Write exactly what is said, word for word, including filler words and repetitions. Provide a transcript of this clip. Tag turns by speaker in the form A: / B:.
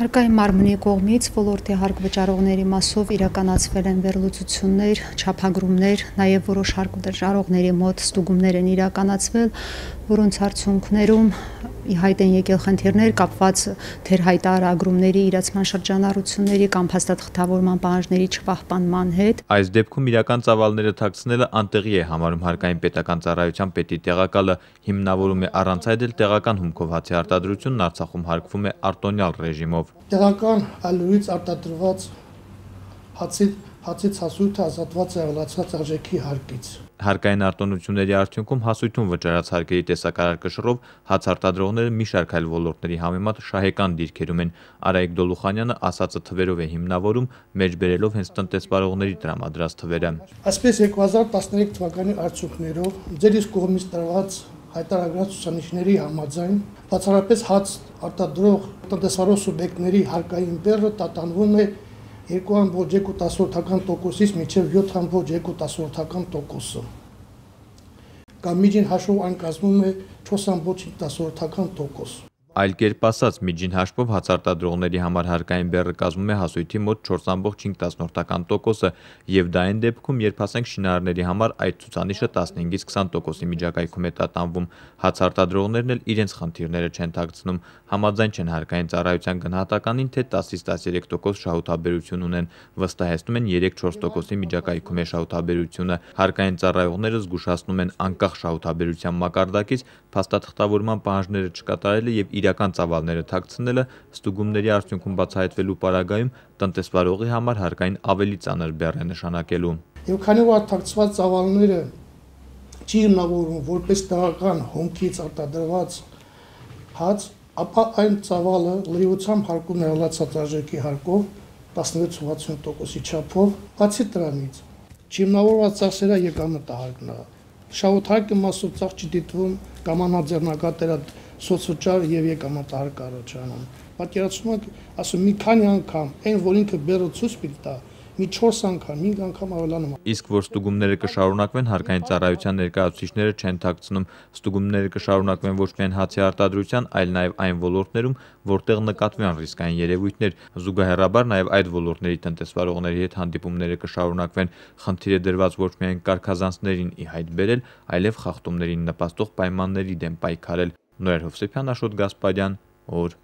A: Հարկային մարմնի կողմից ոլորտի հարկ վճարողների մասով իրականացվել են վերլուծություններ, չափագրումներ, նաև որոշ հարկ վճարողների մոտ ստուգումներ են իրականացվել, որոնց արդյունքներում ի հայտ են եկել խնդիրներ կապված թերհայտարագրումների իրացման շրջանառությունների կամ փաստաթղթավորման պահանջների չպահպանման հետ։
B: Այս դեպքում իրական ծավալները թաքցնելը անտեղի է համարում հարկային պետական ծառայության պետի տեղակալը, հիմնավորում է առանց այդ էլ տեղական հումքով հացի արտադրությունն Արցախում հարկվում է արտոնյալ ռեժիմով։
C: Տեղական այլուրից արտադրված հացի հացից հասույթը ազատված է ավելացված արժեքի հարկից։
B: Հարկային արտոնությունների արդյունքում հասույթում վճարած հարկերի տեսակարար կշռով հաց արտադրողները մի շարք այլ ոլորտների համեմատ շահեկան դիրքերում են։ Արայիկ Դոլուխանյանը ասածը թվերով է հիմնավորում, մեջբերելով հենց տնտեսվարողների տրամադրած թվերը։
C: Այսպես երկու հազար տասներեք թվականի արդյունքներով ձեր իսկ կողմից տրված հայտարարված ցուցանիշների համաձայն բացառապես հաց արտադրող տնտեսվարող սուբյեկտների հարկային բեռը տատանվում է երկու ամբողջ երկու տոկոսից մինչև յոթ ամբողջ երկու տոկոսը։ Կամ միջին հաշվով այն կազմում է չորս ամբողջ հինգ տոկոս։
B: Այլ կերպ ասած, միջին հաշվով հաց արտադրողների համար հարկային բեռը կազմում է հասույթի մոտ չորս ամբողջ հինգ տոկոսը եւ դա այն դեպքում, երբ ասենք շինարարների համար այդ ցուցանիշը տասնհինգից քսան տոկոսի միջակայքում է տատանվում, հաց արտադրողներն էլ իրենց խնդիրները չեն թաքցնում, համաձայն չեն հարկային ծառայության գնահատականին, թե տասից տասներեք տոկոս շահութաբերություն ունեն, վստահեցնում են երեք-չորս տոկոսի միջակայքում է շահութաբերությունը։ Հարկային ծառայողները զգուշացնում են անկախ շահութաբերության մակարդակից փաստաթղթավորման պահանջները չկատարելը եւ իրական ծավալները թաքցնելը ստուգումների արդյունքում բացահայտվելու պարագայում տնտեսվարողի համար հարկային ավելի ծանր բեռ է նշանակելու։
C: Եվ քանի որ թաքցված ծավալները չի հիմնավորվում որպես տեղական հումքից արտադրված հաց, ապա այն ծավալը լրիվությամբ հարկում է ավելացած արժեքի հարկով տասնվեց ութսուն տոկոսի չափով, բացի դրանից չհիմնավորված ծախսերը եկամտահարկն է։ Շահութարկի մասով ծախս չի դիտվում կամ անհաձեռնագատերա սոցիալ եւ եկամտահարկ առաջանում։ Պատկերացնում եք, ասում մի քանի անգամ այն, որ ինքը բեռը ցույց պիտի տա, մի չորս անգամ, հինգ անգամ ավելանում։
B: Իսկ որ ստուգումները կշարունակվեն, հարկային ծառայության ներկայացուցիչները չեն թաքցնում, ստուգումները կշարունակվեն ոչ միայն հացի արտադրության, այլ նաև այն ոլորտներում, որտեղ նկատվեն ռիսկային երևույթներ, զուգահեռաբար նաև այդ ոլորտների տնտեսվարողների հետ հանդիպումները կշարունակվեն, խնդիր է դրված ոչ միայն կարգազանցներին ի հայտ բերել, այլև խախտումներին նպաստող պայմանների դեմ պայքարել։ Նորեր Հովսեփյան, Աշոտ Գասպարյան, օր